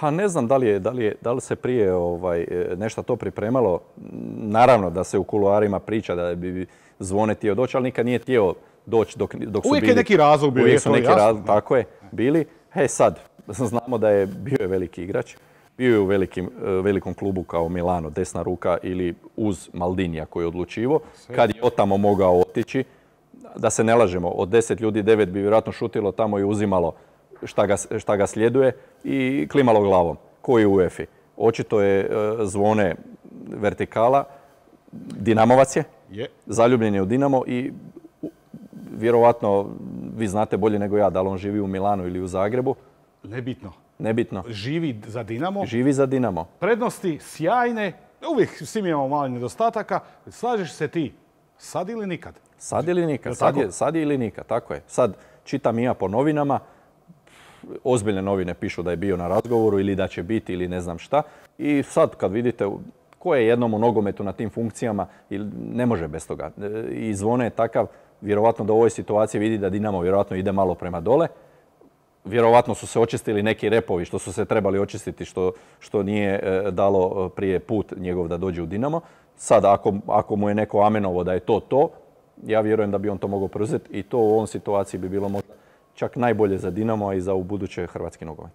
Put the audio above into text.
Pa ne znam da li se prije nešto to pripremalo. Naravno da se u kuloarima priča da bi Zvone htio doći, ali nikad nije htio doći dok su bili... Uvijek je neki razlog bio, Uvijek su neki razlog, tako je, bili. Sad, znamo da je bio veliki igrač. Bio je u velikom klubu kao Milano, desna ruka ili uz Maldinija koji je odlučivo. Kad je otamo mogao otići, da se ne lažemo, od 10 ljudi 9 bi vjerojatno šutilo tamo i uzimalo šta ga sljeduje i klimalo glavom, koji u UEFA-i. Očito je Zvone vertikala, Dinamovac je, zaljubljen je u Dinamo i vjerovatno, vi znate bolje nego ja, da li on živi u Milanu ili u Zagrebu. Nebitno. Živi za Dinamo. Živi za Dinamo. Prednosti sjajne, uvijek svi imamo malo nedostataka. Slažeš se ti, sad ili nikad? Sad ili nikad, sad ili nikad, tako je. Sad čitam i ja po novinama, ozbiljne novine pišu da je bio na razgovoru ili da će biti ili ne znam šta. I sad kad vidite ko je jednom u nogometu na tim funkcijama, ne može bez toga. I Zvone je takav, vjerovatno da u ovoj situaciji vidi da Dinamo vjerovatno ide malo prema dole. Vjerovatno su se očistili neki repovi što su se trebali očistiti, što nije dalo prije put njegov da dođe u Dinamo. Sad, ako mu je neko amenovo da je to, ja vjerujem da bi on to mogao preuzeti i to u ovom situaciji bi bilo možda čak najbolje za Dinamo, a i za ubuduće hrvatski nogomet.